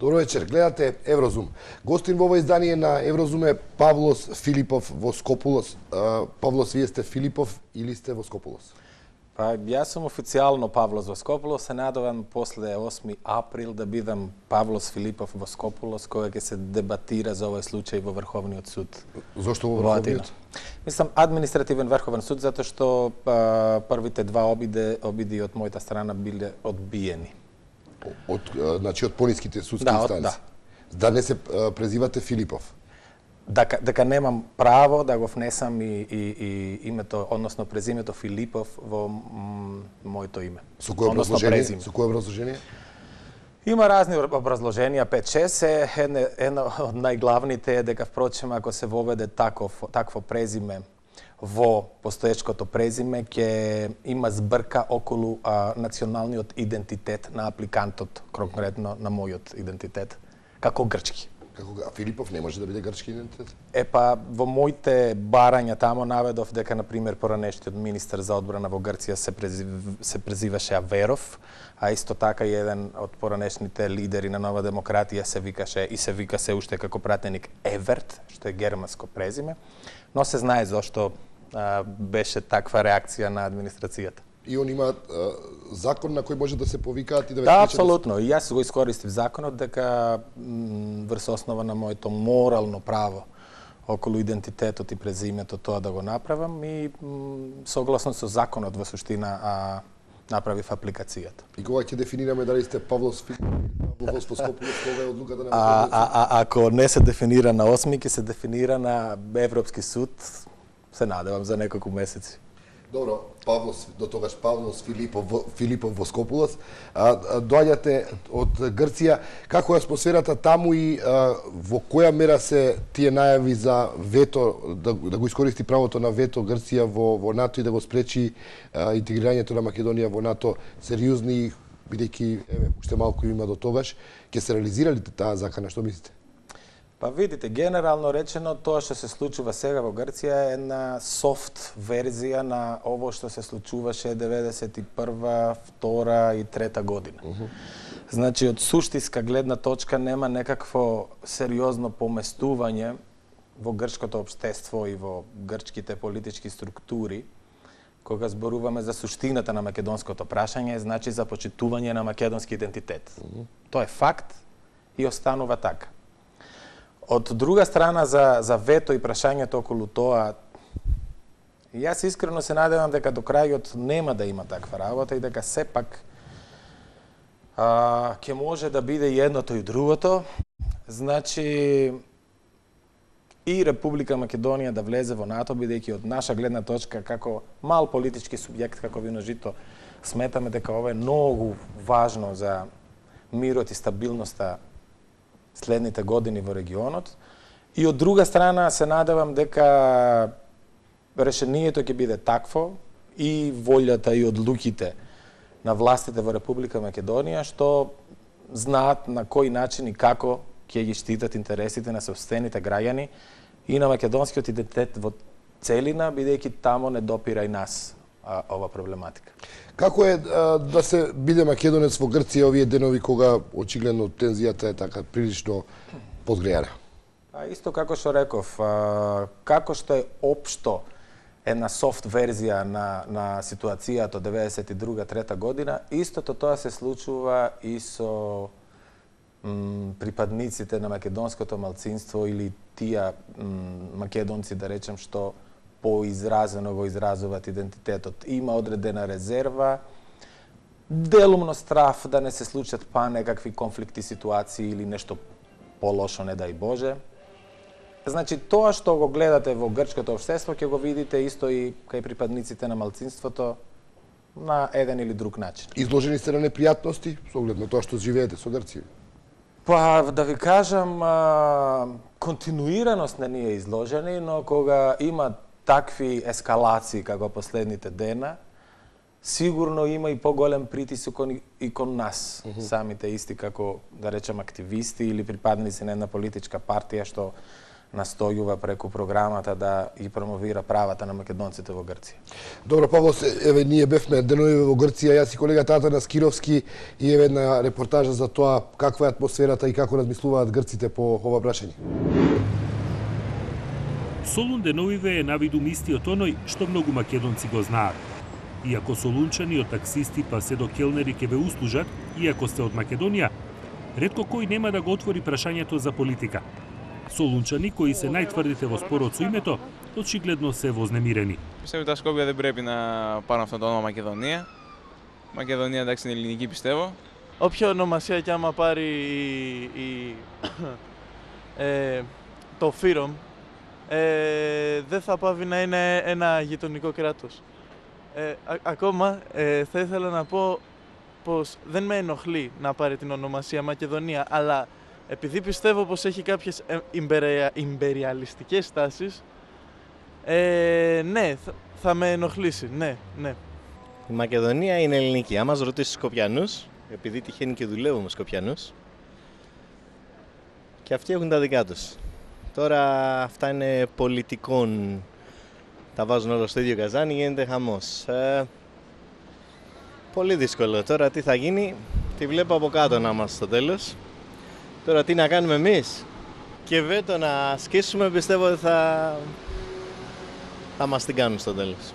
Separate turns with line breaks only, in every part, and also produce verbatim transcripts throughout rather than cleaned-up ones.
Добро вечер, гледате Еврозум. Гостин во ова издание на Еврозум е Павлос Филипов Воскопулос. Павлос, вие сте Филипов или сте Воскопулос?
Па, јас сум официјално Павлос Воскопулос, се надевам после осми април да бидам Павлос Филипов Воскопулос, кога ќе се дебатира за овој случај во Врховниот суд.
Зошто во Врховниот?
Мислам, административен Врховен суд, затоа што а, првите два обиде, обиди од мојата страна биле одбиени.
Од, значи, од пониските судски
да,
инстанции?
Да,
да. не се презивате Филипов?
Дека, дека немам право да го внесам и, и, и името, односно презимето Филипов во моето име.
Со кое образложение? Со кое образложение?
Има разни образложенија, пет шест, една, една од најглавните е дека, впрочем, ако се воведе таков, такво презиме во постоечкото презиме, ќе има збрка околу а, националниот идентитет на апликантот, конкретно на мојот идентитет, како грчки.
Како, а Филипов не може да биде грчки идентитет?
Е па, во моите барања тамо наведов дека, например, поранешниот министер за одбрана во Грција се, презив, се презиваше Аверов, а исто така и еден од поранешните лидери на Нова демократија се викаше и се вика се уште како пратеник Еверт, што е германско презиме, но се знае зошто а, беше таква реакција на администрацијата.
И он има а, закон на кој може да се повикаат и да ве
Да,
спречат?
апсолутно. И јас го искористив законот дека врз основа на моето морално право околу идентитетот и презимето тоа да го направам и согласно со законот во суштина а, направив апликацијата.
И кога ќе дефинираме дали сте Павлос Филипов, Павлос Воскопулос, кога е одлуката на
а, а, а ако не се дефинира на осми, ќе се дефинира на Европски суд, се надевам за неколку месеци.
Добро, Павлос, до тогаш Павлос Филипов, Филипов Воскопулос, а, а, доаѓате од Грција. Како е атмосферата таму и а, во која мера се тие најави за вето, да, да го искористи правото на вето Грција во, во НАТО и да го спречи а, интегрирањето на Македонија во НАТО сериозни, бидејќи еве уште малку има до тогаш, ќе се реализира ли таа закана, што мислите?
Па видите, генерално речено, тоа што се случува сега во Грција е една софт верзија на ово што се случуваше деветдесет и прва, втора и трета година. Uh -huh. Значи, од суштинска гледна точка нема некакво сериозно поместување во грчкото општество и во грчките политички структури, кога зборуваме за суштината на македонското прашање, значи за почитување на македонски идентитет. Uh -huh. Тоа е факт и останува така. Од друга страна, за, за вето и прашањето околу тоа, јас искрено се надевам дека до крајот нема да има таква работа и дека сепак а, ќе може да биде и едното и другото. Значи, и Република Македонија да влезе во НАТО, бидејќи од наша гледна точка, како мал политички субјект, како Вино жито, сметаме дека ова е многу важно за мирот и стабилноста следните години во регионот. И од друга страна се надевам дека решението ќе биде такво и волјата и одлуките на властите во Република Македонија што знаат на кој начин и како ќе ги штитат интересите на сопствените граѓани и на македонскиот идентитет во целина, бидејќи тамо не допира и нас а, ова проблематика.
Како е а, да се биде македонец во Грција овие денови кога очигледно тензијата е така прилично подгреана?
А исто како што реков, а, како што е општо една софт верзија на, на ситуацијата од деветдесет и друга трета година, истото тоа се случува и со м, припадниците на македонското малцинство или тие македонци, да речем, што поизразено го изразуваат идентитетот. Има одредена резерва, делумно страф да не се случат па некакви конфликти, ситуации или нешто полошо, не дај Боже. Значи, тоа што го гледате во грчкото општество, ќе го видите исто и кај припадниците на малцинството на еден или друг начин.
Изложени сте на непријатности со оглед на тоа што живеете со Грција?
Па, да ви кажам, а, континуираност не ни е изложени, но кога има такви ескалации како последните дена, сигурно има и поголем притисок и кон нас, uh -huh. самите исти како, да речем, активисти или припадници на една политичка партија што настојува преку програмата да и промовира правата на македонците во Грција.
Добро, Павло, еве ние бевме денови во Грција, јас и колегата Атанас Скировски, и еве една репортажа за тоа каква е атмосферата и како размислуваат грците по ова прашање.
Солун деновиве е навидум истиот оној што многу македонци го знаат. Иако солунчани од таксисти па се до келнери ќе ве услужат, иако сте од Македонија, ретко кој нема да го отвори прашањето за политика. Солунчани, кои се најтврдите во спорот со името, очигледно се вознемирени.
Πιστεύω τα Σκόπια δεν πρέπει να πάρουν αυτό το όνομα Μακεδονία. Μακεδονία, εντάξει, είναι ελληνική, πιστεύω.
Όποια ονομασία και άμα πάρει η, η, ε, το Φύρομ, ε, δεν θα πάβει να είναι ένα γειτονικό κράτος. Ε, α, ακόμα ε, θα ήθελα να πω πως δεν με ενοχλεί να πάρει την ονομασία Μακεδονία, αλλά επειδή πιστεύω πως έχει κάποιες ιμπεριαλιστικές τάσεις, ε, ναι, θα, θα με ενοχλήσει, ναι, ναι.
Η Μακεδονία είναι ελληνική. Αν μας ρωτήσεις Σκοπιανούς, επειδή τυχαίνει και δουλεύουμε Σκοπιανούς, και αυτοί έχουν τα δικά τους. Τώρα αυτά είναι πολιτικών, τα βάζουν όλα στο ίδιο καζάνι, γίνεται χαμός. Ε, πολύ δύσκολο. Τώρα τι θα γίνει, τη βλέπω από κάτω να είμαστε στο τέλος. Τώρα τι να κάνουμε εμείς, και βέτο να σκίσουμε, πιστεύω ότι θα, θα μας την κάνουν στο τέλος.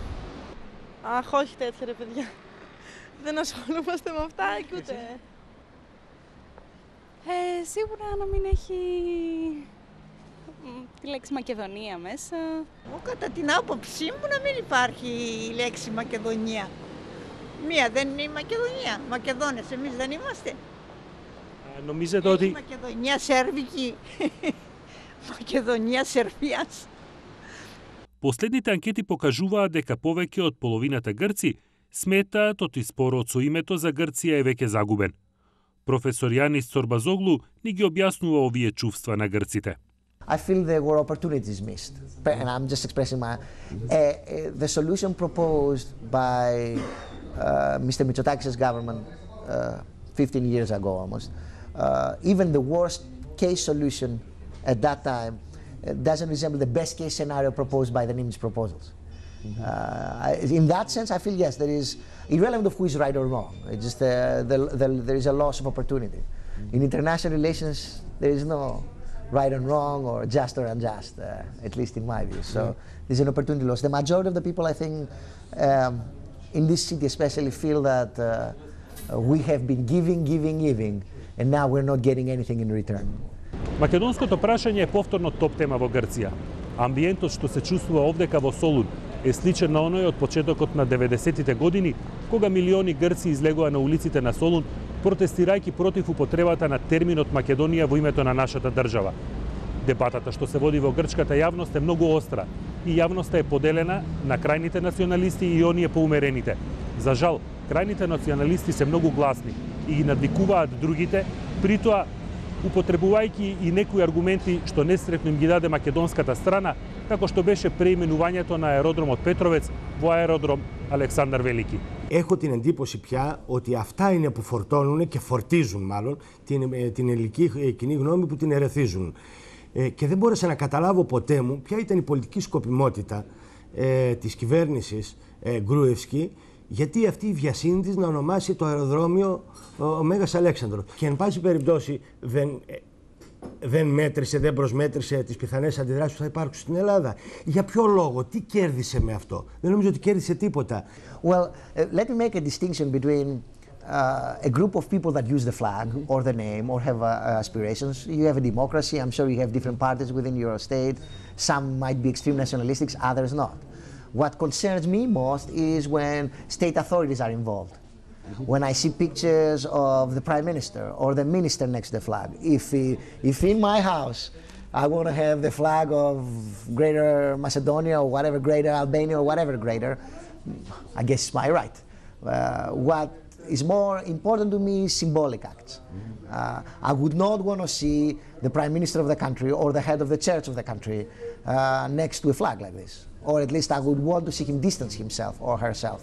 Αχ, όχι τέτοια ρε παιδιά. Δεν ασχολούμαστε με αυτά και ούτε. Ε, σίγουρα να μην έχει τη λέξη Μακεδονία μέσα.
Εγώ κατά την άποψή μου να μην υπάρχει η λέξη Μακεδονία. Μία δεν είναι η Μακεδονία. Μακεδόνες εμείς δεν είμαστε.
Νομίζετε ότι...
Μακεδονία Σέρβικη. Македонија, Сербијас.
Последните анкети покажуваат дека повеќе од половината грци сметаат оти спорот со името за Грција е веќе загубен. Професор Јанис Цорбазоглу ни ги објаснува овие чувства на грците.
I feel there were opportunities missed, and I'm just expressing my. Uh, uh, the solution proposed by uh, Mister Mitsotakis' government uh, fifteen years ago almost, uh, even the worst case solution at that time uh, doesn't resemble the best case scenario proposed by the Nimitz proposals. Mm-hmm. uh, in that sense, I feel yes, there is, irrelevant of who is right or wrong, it's just uh, the, the, there is a loss of opportunity. Mm-hmm. In international relations, there is no right and wrong or just or unjust, uh, at least in my view. So mm-hmm. there's an opportunity loss. The majority of the people, I think, um, in this city especially feel that uh, we have been giving, giving, giving, and now we're not getting anything in return.
Македонското прашање е повторно топ тема во Грција. Амбиентот што се чувствува овдека во Солун е сличен на оној од почетокот на деветдесеттите години, кога милиони грци излегоа на улиците на Солун, протестирајќи против употребата на терминот Македонија во името на нашата држава. Дебатата што се води во грчката јавност е многу остра и јавноста е поделена на крајните националисти и оние поумерените. За жал, крајните националисти се многу гласни и ги надвикуваат другите, притоа употребувајќи и некои аргументи што несретно им ги даде македонската страна, како што беше преименувањето на аеродромот Петровец во αεροδρόμ Αλεξάνδρ Велики.
Έχω την εντύπωση πια ότι αυτά είναι που φορτώνουν και φορτίζουν μάλλον την, την ελληνική κοινή γνώμη, που την ερεθίζουν. Ε, και δεν μπόρεσα να καταλάβω ποτέ μου ποια ήταν η πολιτική σκοπιμότητα ε, της κυβέρνησης ε, Γκρούευσκη, γιατί αυτή η βιασύνη της να ονομάσει το αεροδρόμιο ο, ο Μέγας Αλέξανδρος. Και εν πάση περιπτώσει δεν, δεν μέτρησε, δεν προσμέτρησε τις πιθανές αντιδράσεις που θα υπάρξουν στην Ελλάδα. Για ποιο λόγο, τι κέρδισε με αυτό? Δεν νομίζω ότι κέρδισε τίποτα.
Well, uh, let me make a distinction between uh, a group of people that use the flag or the name or have uh, aspirations. You have a democracy. I'm sure you have different parties within your state. Some might be extreme nationalistics, others not. What concerns me most is when state authorities are involved. Mm-hmm. When I see pictures of the prime minister or the minister next to the flag. If, if in my house I want to have the flag of Greater Macedonia or whatever, Greater Albania or whatever greater, I guess it's my right. Uh, what is more important to me is symbolic acts. Mm-hmm. uh, I would not want to see the prime minister of the country or the head of the church of the country uh, next to a flag like this. Or at least I would want to see him distance himself or herself